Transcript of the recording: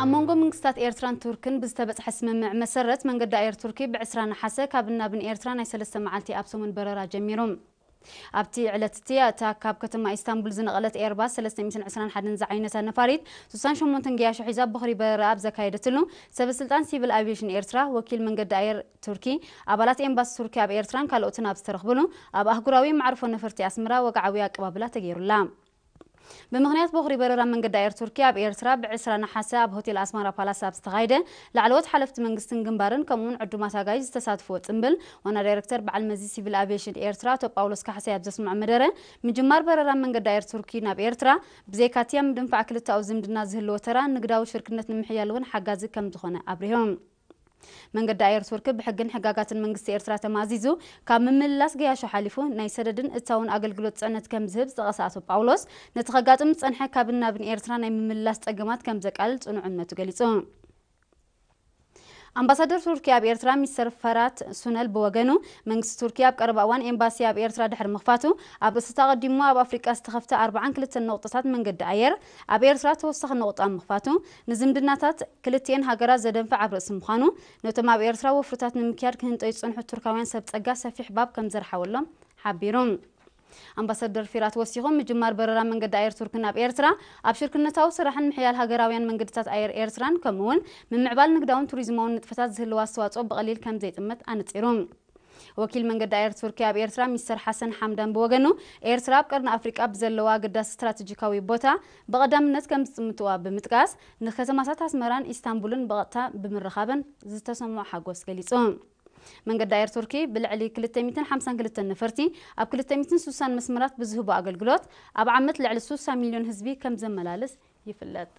ኣብ መንጎ መንግስታት ኤርትራን ቱርክን ብዝተበጽሐ ስምምዕ መሰረት፣ መንገዲ ኣየር ቱርኪ ብ20 ነሓሰ ካብን ናብን ኤርትራ ናይ ሰለስተ መዓልቲ ኣብ ሰሙን በረራ ጀሚሩ። ኣብቲ ዕለት እቲ፣ እታ ካብ ከተማ ኢስታንቡል ዝነቐለት ኤርባስ ሰለስተ ሚእትን ዕስራን ሓደን ዝዓይነታ ነፋሪት፣ ሱሳን ሸሞንተን ገያሾ ሒዛ ቦኽሪ በረራ ኣብ ዘካየደትሉ፣ ሰበ ስልጣን ሲቪል ኣቪዬሽን ኤርትራ፣ ወኪል መንገዲ ኣየር ቱርኪ፣ ኣባላት ኤምባሲ ቱርኪ ኣብ ኤርትራን ካልኦትን ኣብ ዝተረኽብሉ፣ ኣብ ኣህጉራዊ መዕርፎ ነፈርቲ ኣስመራ ወግዓዊ ኣቀባብላ ተገይሩላ። ብምኽንያት ቦኽሪ በረራ መንገዲ ኣየር ቱርኪ፣ ኣብ ኤርትራ ብ20 ነሓሰ ኣብ ሆቴል ኣስመራ ፓላስ ኣብ ዝተኻየደ፣ ላዕለዎት ሓለፍቲ መንግስትን ግንባርን ከምኡውን ዕዱማት ኣጋይሽ ዝተሳትፍዎ ጽምብል፣ ዋና ዳይረክተር በዓል መዚ ሲቪል ኣቪዬሽን ኤርትራ ኣቶ ጳውሎስ ካሕሳይ ኣብ ዘስምዖ መደረ፣ ምጅማር በረራ መንገዲ ኣየር ቱርኪ ናብ ኤርትራ፣ ብዘይካቲ ኣብ ምድንፋዕ ክልተኣዊ ዝምድና ዝህልዎ ተራ፣ ንግዳዊ ሽርክነት ንምሕያል እውን ሓጋዚ ከም ዝኾነ ኣብሪሆም። መንገዲ ኣየር ቱርኪ ብሕግን ሕጋጋትን መንግስቲ ኤርትራ ተማዚዙ፣ ካብ ምምልላስ ገያሾ ሓሊፉ ናይ ሰደድን እታውን ኣገልግሎት ጽዕነት ከም ዝህብ ዝጠቐሰ ኣቶ ጳውሎስ፣ ነቲ ከጋጥም ዝጸንሐ ካብን ናብን ኤርትራ ናይ ምምልላስ ጸገማት ከም ዘቃልል ጽኑዕ እምነቱ ገሊጹ። ኣምባሳደር ቱርኪ ኣብ ኤርትራ ሚስተር ፈራት ሱነል ብወገኑ፣ መንግስቲ ቱርኪ ኣብ ቀረባ እዋን ኤምባሲ ኣብ ኤርትራ ድሕሪ ምኽፋቱ፣ ኣብ ርእሲ እቲ ኣቐዲሙ ኣብ ኣፍሪቃ ዝተኸፍተ ኣርብዓን ክልተን ነቑጣታት መንገዲ ኣየር፣ ኣብ ኤርትራ ተወሳኺ ነቑጣ ምኽፋቱ፣ ንዝምድናታት ክልቲኤን ሃገራት ዘደንፍዕ ኣብ ርእሲ ምዃኑ፣ ነቶም ኣብ ኤርትራ ወፍርታት ንምክያድ ክህንጠዩ ዝጸንሑ ቱርካውያን ሰብ ጸጋ ሰፊሕ ባብ ከም ዘርሓወሎም ሓቢሩ። ኣምባሳደር ፊራት ወሲኹ፣ ምጅማር በረራ መንገዲ ኣየር ቱርኪ ናብ ኤርትራ፣ ኣብ ሽርክነታዊ ስራሕን ምሕያል ሃገራውያን መንገድታት ኣየር ኤርትራን፣ ከምኡውን ምምዕባል ንግዳውን ቱሪዝማውን ንጥፈታት ዝህልዎ ኣስተዋጽኦ ብቐሊል ከም ዘይጥመት ኣነጺሩ። ወኪል መንገዲ ኣየር ቱርኪ ኣብ ኤርትራ ሚስተር ሓሰን ሓምዳን ብወገኑ፣ ኤርትራ ኣብ ቀርኒ ኣፍሪቃ ብዘለዋ ኣገዳሲ ስትራቴጂካዊ ቦታ ብቐዳምነት ከም ዝጥምትዋ ብምጥቃስ፣ ንከተማታት ኣስመራን ኢስታንቡልን ብቐጥታ ብምርኻበን ዝተሰምዖ ሓጎስ ገሊጹ። መንገዲ ኣየር ቱርኪ ብልዕሊ ክልተ ሚእትን ሓምሳን ክልተን ነፈርቲ ኣብ ክልተ ሚእትን ስሳን መስመራት ብዝህቦ ኣገልግሎት፣ ኣብ ዓመት ልዕሊ ስሳ ሚልዮን ህዝቢ ከም ዘመላልስ ይፍለጥ።